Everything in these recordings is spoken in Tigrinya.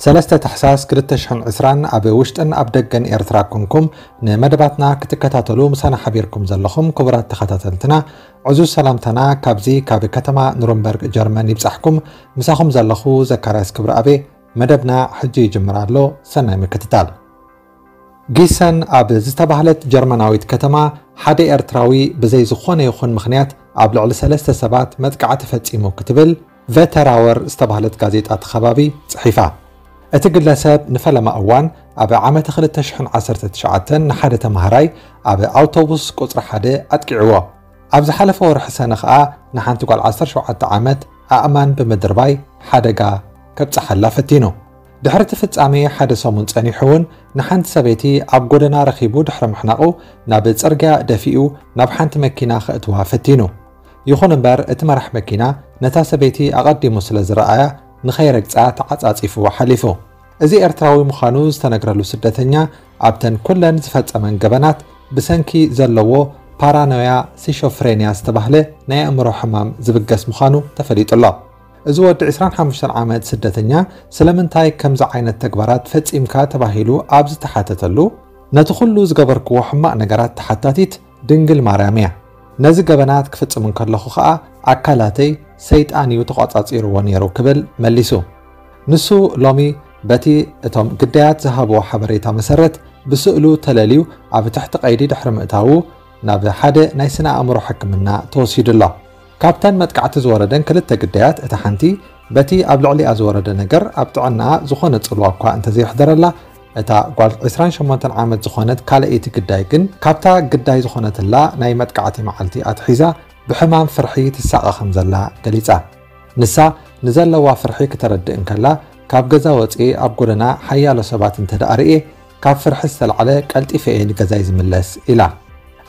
ሰለስተ ታሕሳስ ክልተ ሽሕን ዕስራን ኣብ ውሽጥን ኣብ ደገን ኤርትራ ኮንኩም ንመደባትና ክትከታተሉ ምሳና ሓቢርኩም ዘለኹም ክቡራት ተኸታተልትና፣ ዕዙዝ ሰላምታና ካብዚ ካብ ከተማ ኑረምበርግ ጀርመን ይብጻሕኩም። ምሳኹም ዘለኹ ዘካርያስ ክብረኣቤ። መደብና ሕጂ ይጅምር ኣሎ። ሰናይ ምክትታል። ጊሰን ኣብ ዝተባህለት ጀርመናዊት ከተማ ሓደ ኤርትራዊ ብዘይ ዝኾነ ይኹን ምኽንያት ኣብ ልዕሊ ሰለስተ ሰባት መጥቃዕቲ ፈጺሙ ክትብል ቨተራወር ዝተባህለት ጋዜጣ እቲ ከባቢ ጽሒፋ። እቲ ግለሰብ ንፈለማ እዋን ኣብ ዓመተ ክልተ ሽሕን ዓሰርተ ትሽዓተን ንሓደ ተማሃራይ ኣብ ኣውቶቡስ ቁጽሪ ሓደ ኣጥቂዕዎ። ኣብ ዝሓለፈ ወርሒ ሰነ ኸኣ ንሓንቲ ጓል ዓሰርተ ሸውዓተ ዓመት ኣእማን ብምድርባይ ሓደጋ ከብጽሓላ ፈቲኑ። ድሕሪ እቲ ፍጻሜ ሓደ ሰሙን ጸኒሑ እውን ንሓንቲ ሰበይቲ ኣብ ጎደና ረኺቡ ድሕሪ ምሕናቑ ናብ ጽርግያ ደፊኡ ናብ ሓንቲ መኪና ከእትዋ ፈቲኑ። ይኹን እምበር እቲ መራሕ መኪና ነታ ሰበይቲ ኣቐዲሙ ስለ ዝረኣያ ንኸይረግጻ ተዓጻጺፉ ሓሊፉ። እዚ ኤርትራዊ ምዃኑ ዝተነግረሉ ስደተኛ ኣብተን ኩለን ዝፈጸመን ገበናት ብሰንኪ ዘለዎ ፓራኖያ ሲሾፍሬንያ ዝተባህለ ናይ ኣእምሮ ሕማም ዝብገስ ምዃኑ ተፈሊጡ ኣሎ። እዚ ወዲ ዕስራን ሓሙሽተን ዓመት ስደተኛ ስለምንታይ ከምዚ ዓይነት ተግባራት ፈጺምካ ተባሂሉ ኣብ ዝተሓተተሉ፣ ነቲ ኩሉ ዝገበርክዎ ሕማቕ ነገራት ተሓታቲት ድንግል ማርያም እያ። ነዚ ገበናት ክፍጽም እንከለኹ ኸኣ ኣካላተይ ሰይጣን እዩ ተቖጻጺርዎ ነይሩ ክብል መሊሱ። ንሱ ሎሚ በቲ እቶም ግዳያት ዝሃብዎ ሓበሬታ መሰረት ብስእሉ ተለልዩ ኣብ ትሕቲ ቀይዲ ድሕሪ ምእታዉ ናብ ሓደ ናይ ስነ ኣእምሮ ሕክምና ተወሲዱ ኣሎ። ካብተን መጥቃዕቲ ዝወረደን ክልተ ግዳያት እታ ሓንቲ በቲ ኣብ ልዕሊኣ ዝወረደ ነገር ኣብ ጥዕናኣ ዝኾነ ጽልዋ እኳ እንተዘየሕደረላ፣ እታ ጓል ዕስራን ሸሞንተን ዓመት ዝኾነት ካልኣይቲ ግዳይ ግን ካብታ ግዳይ ዝኾነትላ ናይ መጥቃዕቲ መዓልቲ ኣትሒዛ ብሕማም ፍርሒ ትሳቐ ከም ዘላ ገሊጻ። ንሳ ንዘለዋ ፍርሒ ክተረድእ እንከላ፣ ካብ ገዛ ወጽኤ ኣብ ጎደና ሓያሎ ሰባት እንተ ደኣ ርእየ፣ ካብ ፍርሒ ዝተላዕለ ቀልጢፈ እየ ንገዛይ ዝምለስ ኢላ።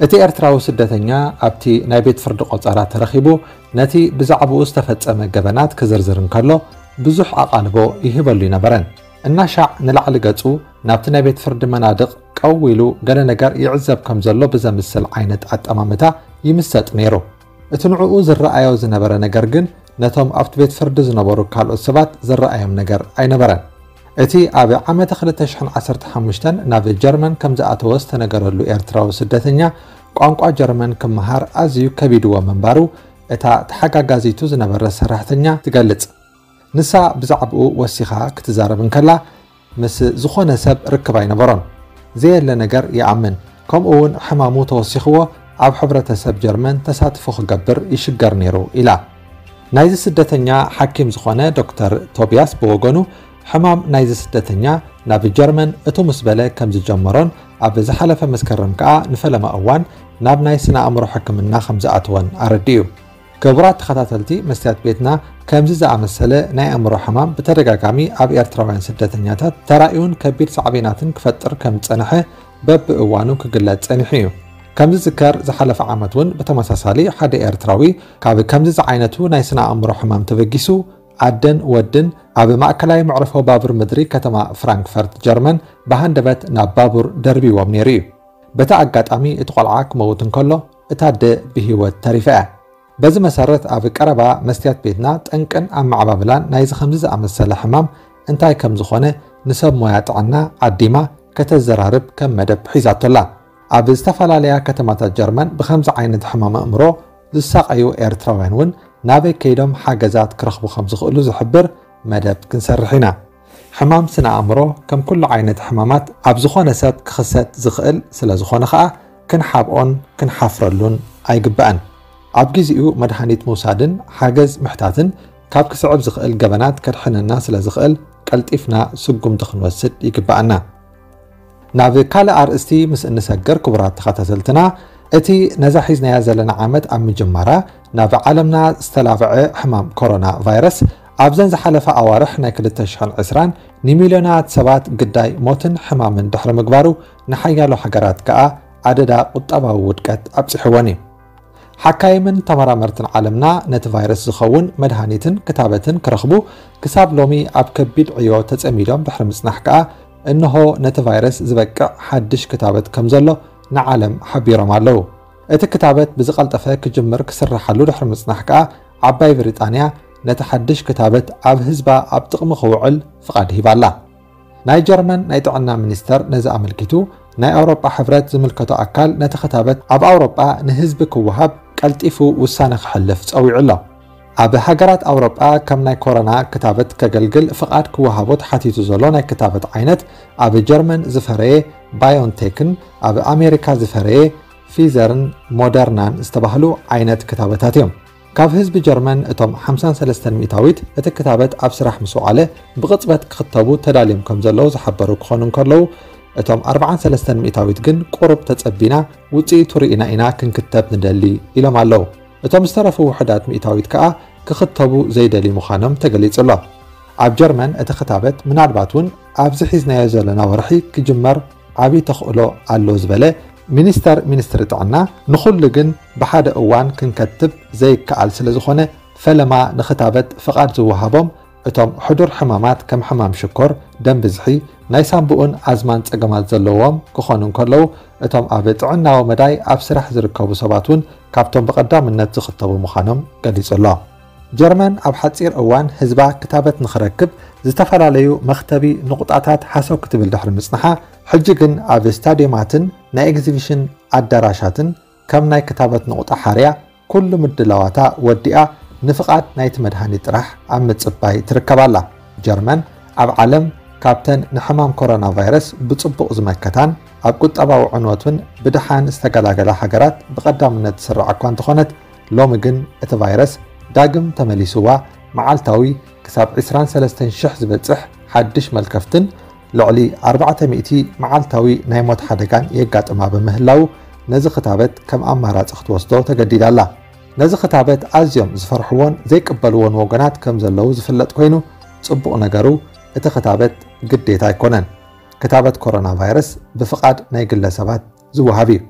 እቲ ኤርትራዊ ስደተኛ ኣብቲ ናይ ቤት ፍርዲ ቆጸራ ተረኺቡ ነቲ ብዛዕባኡ ዝተፈጸመ ገበናት ክዝርዝር እንከሎ፣ ብዙሕ ኣቓልቦ ይህበሉ ኣይነበረን። እናሻዕ ንላዕሊ ገጹ ናብቲ ናይ ቤት ፍርዲ መናድቕ ቀው ኢሉ ገለ ነገር ይዕዘብ ከም ዘሎ ብዘምስል ዓይነት ኣጠማምታ ይምሰጥ ነይሩ። እቲ ንዕኡ ዝረኣዮ ዝነበረ ነገር ግን ነቶም ኣብቲ ቤት ፍርዲ ዝነበሩ ካልኦት ሰባት ዝረኣዮም ነገር ኣይነበረን። እቲ ኣብ ዓመተ ክልተ ሽሕን ዓሰርተ ሓሙሽተን ናብ ጀርመን ከም ዝኣተወ ዝተነገረሉ ኤርትራዊ ስደተኛ ቋንቋ ጀርመን ክመሃር ኣዝዩ ከቢድዎ ምንባሩ እታ ተሓጋጋዚቱ ዝነበረት ሰራሕተኛ ትገልጽ። ንሳ ብዛዕባኡ ወሲኻ ክትዛረብ እንከላ፣ ምስ ዝኾነ ሰብ ርክብ ኣይነበሮን። ዘየለ ነገር ይኣምን፣ ከምኡ እውን ሕማሙ ተወሲኽዎ ኣብ ሕብረተሰብ ጀርመን ተሳትፎ ክገብር ይሽገር ነይሩ ኢላ። ናይዚ ስደተኛ ሓኪም ዝኾነ ዶክተር ቶቢያስ ብወገኑ፣ ሕማም ናይዚ ስደተኛ ናብ ጀርመን እቱ ምስ በለ ከም ዝጀመሮን ኣብ ዝሓለፈ መስከረም ከኣ ንፈለማ እዋን ናብ ናይ ስነ ኣእምሮ ሕክምና ከም ዝኣተወን ኣረዲኡ። ክቡራት ተኸታተልቲ መስትያት ቤትና፣ ከምዚ ዝኣመሰለ ናይ ኣእምሮ ሕማም ብተደጋጋሚ ኣብ ኤርትራውያን ስደተኛታት ተራእዩን ከቢድ ሳዕቤናትን ክፈጥር ከም ዝጸንሐ በብእዋኑ ክግለጽ ጸኒሑ እዩ። ከም ዝዝከር፣ ዝሓለፈ ዓመት እውን ብተመሳሳሊ ሓደ ኤርትራዊ ካብ ከምዚ ዝዓይነቱ ናይ ስነ ኣእምሮ ሕማም ተበጊሱ ኣደን ወድን ኣብ ማእከላይ መዕርፎ ባቡር ምድሪ ከተማ ፍራንክፈርት ጀርመን ብሃንደበት ናብ ባቡር ደርቢዎም ነይሩ እዩ። በቲ ኣጋጣሚ እቲ ቆልዓ ክመውት እንከሎ፣ እታ ኣደ ብህይወት ተሪፋ እያ። በዚ መሰረት ኣብ ቀረባ መስትያት ቤትና ጠንቅን ኣመዓባብላን ናይዚ ከምዚ ዝኣመሰለ ሕማም እንታይ ከም ዝኾነ ንሰብ ሞያ ጥዕና ዓዲማ ከተዘራርብ ከም መደብ ሒዛቶ ኣላ። ኣብ ዝተፈላለያ ከተማታት ጀርመን ብከምዚ ዓይነት ሕማም ኣእምሮ ዝሳቐዩ ኤርትራውያን እውን ናበይ ከይዶም ሓገዛት ክረኽቡ ከም ዝኽእሉ ዝሕብር መደብ ክንሰርሕ ኢና። ሕማም ስነ ኣእምሮ ከም ኩሉ ዓይነት ሕማማት ኣብ ዝኾነ ሰብ ክኽሰት ዝኽእል ስለ ዝኾነ ኸኣ ክንሓብኦን ክንሓፍረሉን ኣይግባእን። ኣብ ግዜኡ መድሃኒት ምውሳድን ሓገዝ ምሕታትን ካብ ክስዕብ ዝኽእል ገበናት ከድሕነና ስለ ዝኽእል ቀልጢፍና ስጉምቲ ክንወስድ ይግባኣና። ናብ ካልእ ኣርእስቲ ምስ እንሰግር ክቡራት ተኸታተልትና፣ እቲ ነዛ ሒዝናያ ዘለና ዓመት ኣብ ምጅማራ ናብ ዓለምና ዝተላብዐ ሕማም ኮሮና ቫይረስ ኣብዘን ዝሓለፋ ኣዋርሕ ናይ ክልተ ሽሕን ዕስራን ንሚልዮናት ሰባት ግዳይ ሞትን ሕማምን ድሕሪ ምግባሩ ንሓያሎ ሃገራት ከኣ ኣደዳ ቁጠባዊ ውድቀት ኣብጺሕወን እዩ። ሓካይምን ተመራመርትን ዓለምና ነቲ ቫይረስ ዝኸውን መድሃኒትን ክታበትን ክረኽቡ ክሳብ ሎሚ ኣብ ከቢድ ዕዮ ተጸሚዶም ድሕሪ ምጽናሕ ከኣ እንሆ ነቲ ቫይረስ ዝበቅዕ ሓድሽ ክታበት ከም ዘሎ ንዓለም ሓቢሮም ኣለዉ። እቲ ክታበት ብዝቐልጠፈ ክጅምር ክስርሓሉ ድሕሪ ምጽናሕ ከኣ ዓባይ ብሪጣንያ ነቲ ሓድሽ ክታበት ኣብ ህዝባ ኣብ ጥቕሚ ክውዕል ፍቓድ ሂባላ። ናይ ጀርመን ናይ ጥዕና ሚኒስተር ነዚ ኣመልኪቱ፣ ናይ ኣውሮጳ ሕብረት ዝምልከቶ ኣካል ነቲ ክታበት ኣብ ኣውሮጳ ንህዝቢ ክወሃብ ቀልጢፉ ውሳነ ክሕልፍ ጸዊዑ ኣሎ። ኣብ ሃገራት ኣውሮጳ ከም ናይ ኮሮና ክታበት ከገልግል ፍቓድ ክወሃቦ ተሓቲቱ ዘሎ ናይ ክታበት ዓይነት፣ ኣብ ጀርመን ዝፈረየ ባዮንቴክን ኣብ ኣሜሪካ ዝፈረየ ፊዘርን ሞደርናን ዝተባህሉ ዓይነት ክታበታት እዮም። ካብ ህዝቢ ጀርመን እቶም ሓምሳን ሰለስተን ሚእታዊት እቲ ክታበት ኣብ ስራሕ ምስ ወዓለ ብቕጽበት ክኽተቡ ተዳልዮም ከም ዘለዉ ዝሓበሩ ክኾኑ እንከለዉ፣ እቶም ኣርባዓን ሰለስተን ሚእታዊት ግን ቁሩብ ተጸቢና፣ ውጽኢቱ ርኢና ኢና ክንክተብ ንደሊ ኢሎም ኣለዉ። እቶም ዝተረፉ ውሑዳት ሚእታዊት ከኣ ክኽተቡ ዘይደልዩ ምዃኖም ተገሊጹ ኣሎ። ኣብ ጀርመን እቲ ክታበት ምናልባት እውን ኣብዚ ሒዝናዮ ዘለና ወርሒ ክጅመር ዓብዪ ተኽእሎ ኣሎ ዝበለ ሚኒስተር ሚኒስትሪ ጥዕና፣ ንኹሉ ግን ብሓደ እዋን ክንከትብ ዘይከኣል ስለ ዝኾነ፣ ፈለማ ንክታበት ፍቓድ ዝወሃቦም እቶም ሕዱር ሕማማት ከም ሕማም ሽኮር፣ ደም ብዝሒ፣ ናይ ሳምቡእን ኣዝማን ጸገማት ዘለዎም ክኾኑ እንከለዉ፣ እቶም ኣብ ጥዕናዊ መዳይ ኣብ ስራሕ ዝርከቡ ሰባት እውን ካብቶም ብቐዳምነት ዝኽተቡ ምዃኖም ገሊጹ ኣሎ። ጀርመን ኣብ ሓጺር እዋን ህዝባ ክታበት ንኽረክብ ዝተፈላለዩ መኽተቢ ንቑጣታት ሓሰው ክትብል ድሕሪ ምጽንሓ፣ ሕጂ ግን ኣብ ስታድዮማትን ናይ ኤግዚቢሽን ኣዳራሻትን ከም ናይ ክታበት ንቑጣ ሓርያ ኩሉ ምድላዋታ ወዲኣ ንፍቓድ ናይቲ መድሃኒት ጥራሕ ኣብ ምጽባይ ትርከብ ኣላ። ጀርመን ኣብ ዓለም ካብተን ንሕማም ኮሮና ቫይረስ ብጽቡቕ ዝመከታን ኣብ ቁጠባዊ ዕንወት እውን ብደሓን ዝተገላገላ ሃገራት ብቐዳምነት ትስራዕ እኳ እንተኾነት፣ ሎሚ ግን እቲ ቫይረስ ዳግም ተመሊስዋ መዓልታዊ ክሳብ ዕስራን ሰለስተን ሽሕ ዝበጽሕ ሓድሽ መልከፍትን ልዕሊ ኣርባዕተ ሚእቲ መዓልታዊ ናይ ሞት ሓደጋን የጋጥማ ብምህላዉ፣ ነዚ ክታበት ከም ኣማራጺ ክትወስዶ ተገዲዳ ኣላ። ነዚ ክታበት ኣዝዮም ዝፈርሕዎን ዘይቅበልዎን ወገናት ከም ዘለዉ ዝፍለጥ ኮይኑ፣ ጽቡቕ ነገሩ እቲ ክታበት ግዴታ ኣይኮነን። ክታበት ኮሮና ቫይረስ ብፍቓድ ናይ ግለሰባት ዝወሃብ እዩ።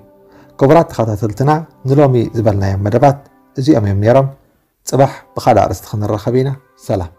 ክቡራት ተኸታተልትና፣ ንሎሚ ዝበልናዮም መደባት እዚኦም እዮም ነይሮም። ጽባሕ ብኻልእ ኣርእስቲ ክንራኸብ ኢና። ሰላም።